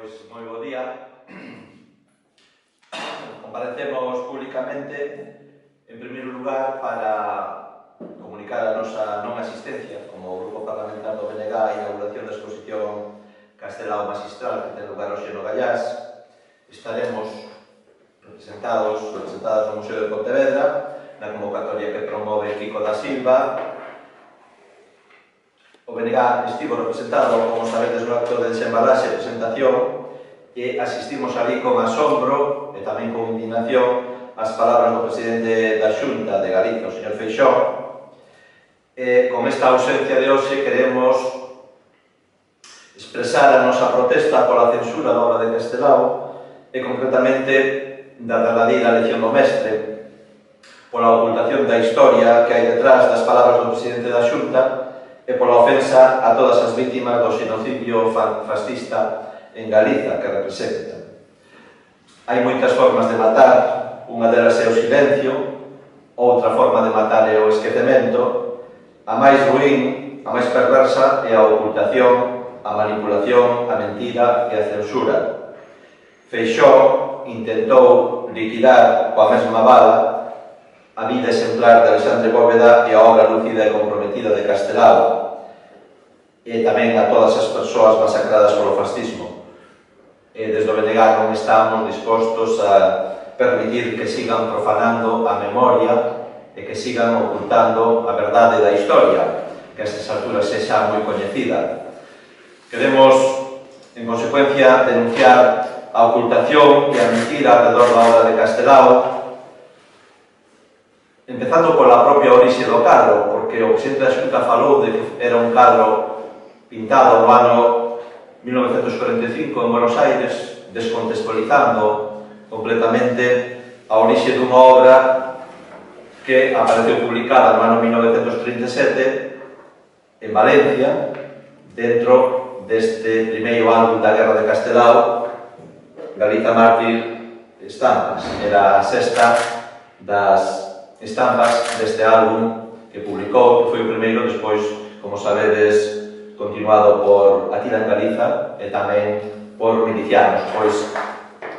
Pois, moi bo día. Comparecemos públicamente, en primeiro lugar, para comunicar a nosa non asistencia como Grupo Parlamentar do BNG a inauguración da exposición Castelao Magistral que ten lugar hoxe no Gallás. Estaremos representadas no Museo de Pontevedra, na convocatoria que promove Kiko da Silva. O BNG estivo representado, como sabedes, no acto de desembalaxe e presentación, e asistimos ali con asombro e tamén con indignación ás palabras do presidente da Xunta de Galicia, o señor Feixóo. Con esta ausencia de hoxe queremos expresar a nosa protesta pola censura da obra de Castelao e concretamente da verdadeira lección do mestre, pola ocultación da historia que hai detrás das palabras do presidente da Xunta e pola ofensa a todas as vítimas do xenocidio fascista en Galiza que representa. Hai moitas formas de matar, unha delas é o silencio, outra forma de matar é o esquecemento, a máis ruín, a máis perversa é a ocultación, a manipulación, a mentira e a censura. Feixóo intentou liquidar coa mesma bala a vida exemplar de Alexandre Bóveda e a obra lúcida e comprometida de Castelao, e tamén a todas as persoas masacradas polo fascismo. Desde o BNG non estamos dispostos a permitir que sigan profanando a memoria e que sigan ocultando a verdade da historia, que a estas alturas sexa moi coñecida. Queremos, en consecuencia, denunciar a ocultación e a mentira alrededor da obra de Castelao, empezando pola propia orixe do cadro, porque o presidente da Xunta falou de que era un cadro pintado no ano 1945 en Buenos Aires, descontextualizando completamente a orixe dunha obra que apareceu publicada no ano 1937 en Valencia, dentro deste primeiro álbum da Guerra de Castelao, Galiza Mártir Estampas. Era a sexta das estampas deste álbum que publicou, que foi o primeiro, despois, como sabedes, continuado por Atila en Galiza e tamén por milicianos, pois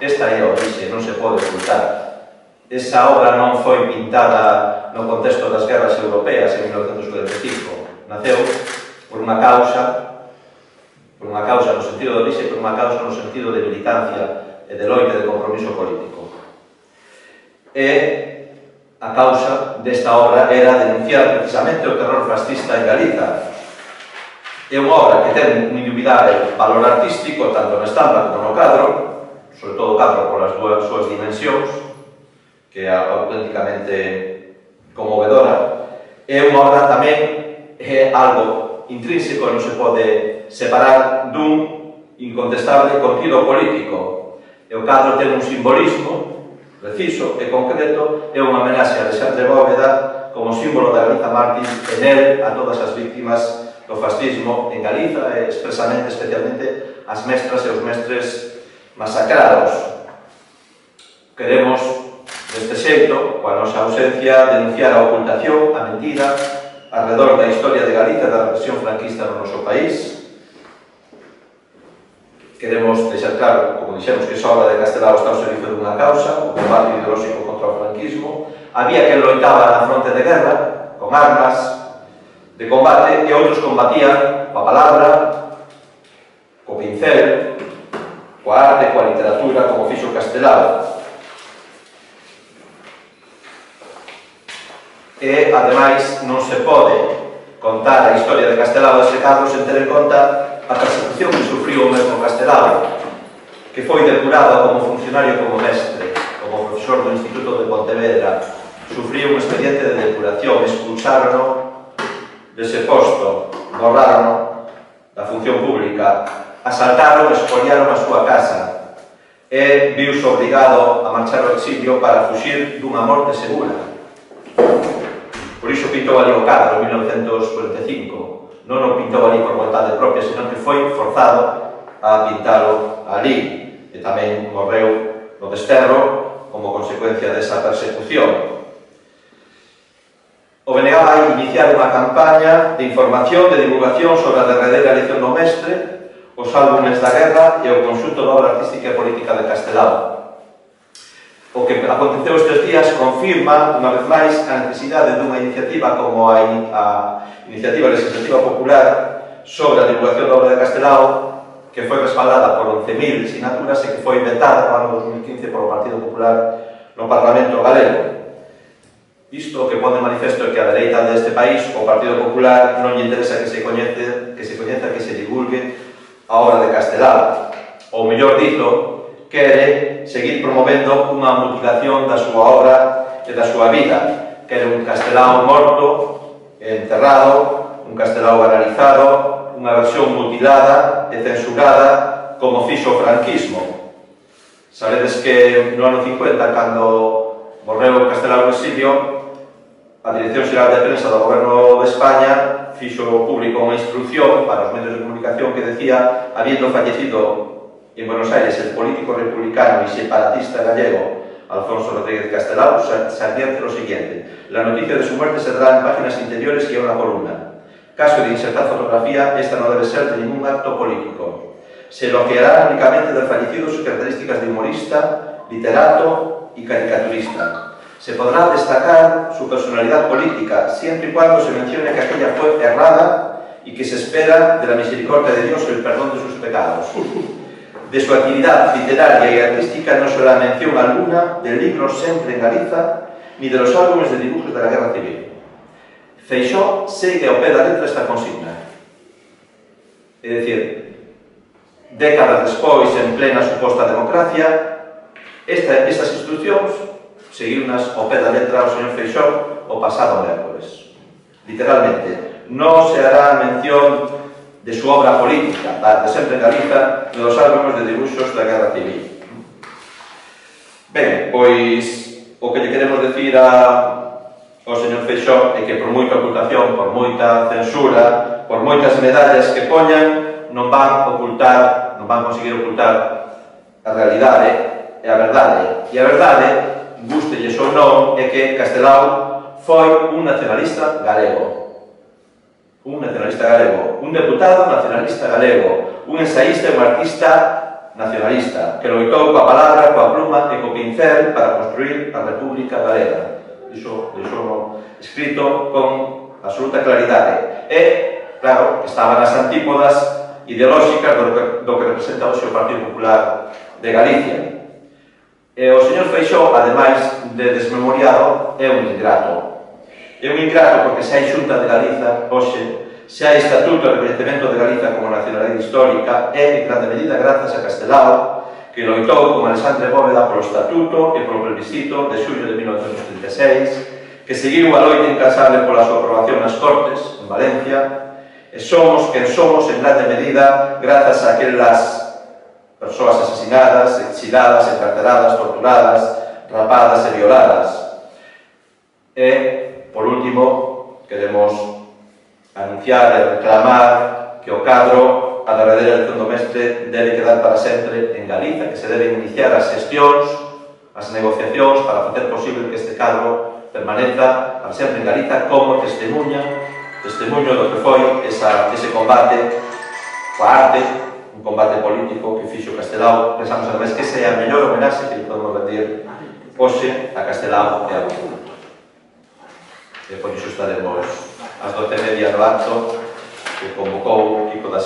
esta é a orixe, non se pode ocultar. Esa obra non foi pintada no contexto das guerras europeas en 1945. Naceu por unha causa no sentido de orixe, por unha causa no sentido de militancia e de loite de compromiso político. E a causa desta obra era denunciar precisamente o terror fascista en Galiza. É unha obra que ten un indubidable valor artístico, tanto na estampa como no cadro, sobre todo o cadro polas súas dimensións, que é auténticamente conmovedora. É unha obra tamén, é algo intrínseco, non se pode separar dun incontestable contido político. E o cadro ten un simbolismo preciso e concreto, é unha homenaxe a Alexandre Bóveda como símbolo da Galiza Mártir e nel a todas as víctimas do fascismo en Galiza e expresamente, especialmente, as mestras e os mestres masacrados. Queremos, deste xeito, coa nosa ausencia, denunciar a ocultación, a mentira, alrededor da historia de Galiza e da represión franquista no noso país. Queremos deixar claro, como dixemos, que esa obra de Castelao está ao servizo dunha causa, o combate ideolóxico contra o franquismo. Había quen loitaba na fronte de guerra, con armas de combate, e outros combatían coa palabra, co pincel, coa arte, coa literatura, como fixo Castelao. E, ademais, non se pode contar a historia de Castelao dese cadro sen ter en conta a persecución que sufriu o mesmo Castelao, que foi depurado como funcionario, como mestre, como profesor do Instituto de Pontevedra. Sufriu un expediente de depuración, expulsárono dese posto, borraron da función pública, asaltaron e expoliaron a súa casa e viuse obrigado a marchar ao exilio para fuxir dunha morte segura. Por iso pintou ali o cadro en 1945. Non o pintou ali por vontade propia, senón que foi forzado a pintalo ali, e tamén morreu no desterro como consecuencia desa persecución. O BNG vai iniciar unha campaña de información, de divulgación sobre a derradeira lección do mestre, os álbumes da guerra e o conxunto da obra artística e política de Castelao. O que aconteceu estes días confirma, unha vez máis, a necesidade dunha iniciativa como a Iniciativa Legislativa Popular sobre a divulgación da obra de Castelao, que foi respaldada por 11.000 sinaturas e que foi vetada no ano 2015 polo Partido Popular no Parlamento galego. Isto o que pone manifesto é que a dereita deste país, o Partido Popular, non lle interesa que se coñeza, que se divulgue a obra de Castelao. Ou mellor dito, quere seguir promovendo unha mutilación da súa obra e da súa vida. Quere un Castelao morto, enterrado, un Castelao banalizado, unha versión mutilada e censurada como fixo o franquismo. Sabedes que no ano 50, cando morreu Castelao no exilio, a Dirección Xeral de Prensa do Goberno de España fixo público unha instrucción para os medios de comunicación que decía, habiendo fallecido en Buenos Aires el político republicano y separatista gallego Alfonso Rodríguez Castelao, se advierte lo siguiente: la noticia de su muerte se dará en páginas interiores y en una columna. Caso de insertar fotografía, esta no debe ser de ningún acto político. Se elogiará únicamente del fallecido sus características de humorista, literato y caricaturista. Se podrá destacar su personalidad política, siempre y cuando se mencione que aquella fue errada y que se espera de la misericordia de Dios el perdón de sus pecados. De su actividad literaria y artística no se hará mención alguna del libro Sempre en Galiza, ni de los álbumes de dibujos de la Guerra Civil. Feixóo segue ao pé da letra esta consigna. É dicir, décadas despois, en plena suposta democracia, estas instruccións seguiunas ao pé da letra ao señor Feixóo o pasado mércoles. Literalmente, non se hará mención de su obra política, de Sempre en Galiza, de los álbumes de dibuxos da Guerra Civil. Ben, pois, o que lle queremos decir ao señor Feixóo é que por moita ocultación, por moita censura, por moitas medallas que poñan, non van conseguir ocultar a realidade e a verdade. E a verdade, gústelles ou non, é que Castelao foi un nacionalista galego. Un nacionalista galego, un deputado nacionalista galego, un ensaísta e un artista nacionalista, que loitou coa palabra, coa pluma e co pincel para construir a República Galega. Iso escrito con absoluta claridade. E, claro, estaba nas antípodas ideolóxicas do que representa hoxe o Partido Popular de Galicia. E o señor Feixóo, ademais de desmemoriado, é un ingrato. É un ingrato porque se hai Xunta de Galiza hoxe, se hai Estatuto de Recoñecemento de Galiza como nacionalidade histórica, é en grande medida grazas a Castelao, que loitou con Alexandre Bóveda polo Estatuto e polo plebiscito de xullo de 1936, que seguiu a loita incansable pola súa aprobación nas Cortes, en Valencia, e somos quen somos en grande medida grazas a aquelas persoas asesinadas, exiladas, encarceradas, torturadas, rapadas e violadas. E, por último, queremos anunciar e reclamar que o cadro a derradeira elección do mestre debe quedar para sempre en Galiza, que se deben iniciar as xestións, as negociacións para facer posible que este cadro permaneza para sempre en Galiza como testemunho do que foi ese combate coa arte, un combate político que fixo Castelao. Pensamos ademais que esa é a mellor homenaxe que podemos rendir hoxe a Castelao e a cultura. E por iso estaremos ás 12:30 no acto que convocou Kiko da